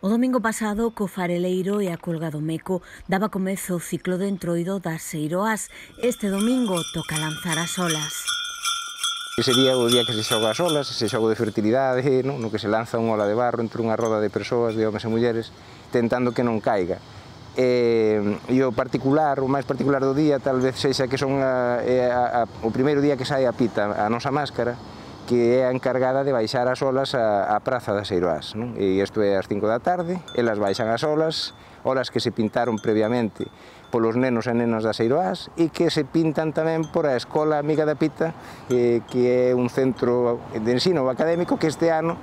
O domingo pasado, co fareleiro e a colga do Meco, daba comezo o ciclo de entroido das Seiroás. Este domingo toca lanzar as olas. Ese día o día que se xoga as olas, ese xogo de fertilidade, no que se lanza unha ola de barro entre unha roda de persoas, de homes e mulleres, tentando que non caiga. E o máis particular do día, tal vez sexa que son o primeiro día que sai a pita, a nosa máscara, que é a encargada de baixar as olas á praza das Seiroás. E isto é ás 5 da tarde, elas baixan as olas que se pintaron previamente polos nenos e nenas das Seiroás e que se pintan tamén por a Escola Amiga da Pita, que é un centro de ensino académico que este ano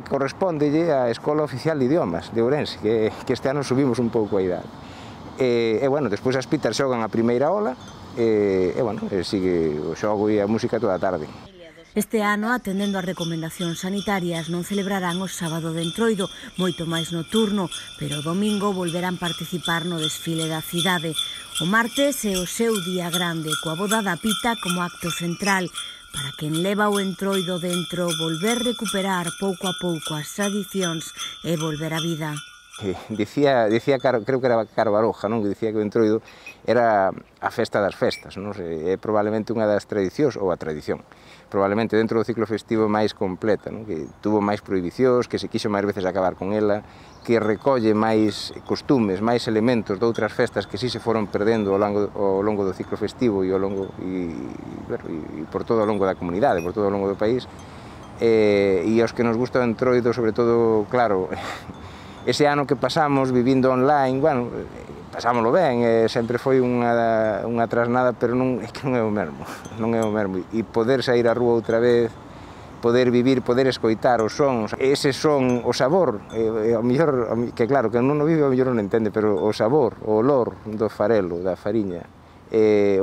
correspondelle á Escola Oficial de Idiomas de Ourense, que este ano subimos un pouco a idade. Despois as pitas xogan a primeira ola e sigue o xogo e a música toda a tarde. Este ano, atendendo as recomendacións sanitarias, non celebrarán o sábado de entroido, moito máis nocturno, pero o domingo volverán participar no desfile da cidade. O martes é o seu día grande, coa boda da pita como acto central, para quen leva o entroido dentro volver recuperar pouco a pouco as tradicións e volver á vida. Dicía creo que era Caro Baroja, que dicía que o entroido era a festa das festas, é probablemente unha das tradicións, ou a tradición, probablemente dentro do ciclo festivo máis completa, que tuvo máis prohibicións, que se quixo máis veces acabar con ela, que recolle máis costumes, máis elementos de outras festas que si se foron perdendo ao longo do ciclo festivo e por todo o longo da comunidade, por todo o longo do país, e aos que nos gusta o entroido, sobre todo, claro, ese ano que pasamos vivindo online, pasámoslo ben, sempre foi unha trasnada, pero é que non é o mesmo, e poder sair á rúa outra vez, poder vivir, poder escoitar os sons, ese son, o sabor, ao mellor, que claro, que non o vive, ao mellor non entende, pero o sabor, o olor do farelo, da fariña,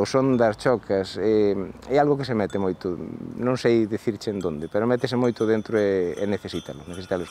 o son das chocas, é algo que se mete moito, non sei dicirche en donde, pero métese moito dentro e necesítalo escoitar.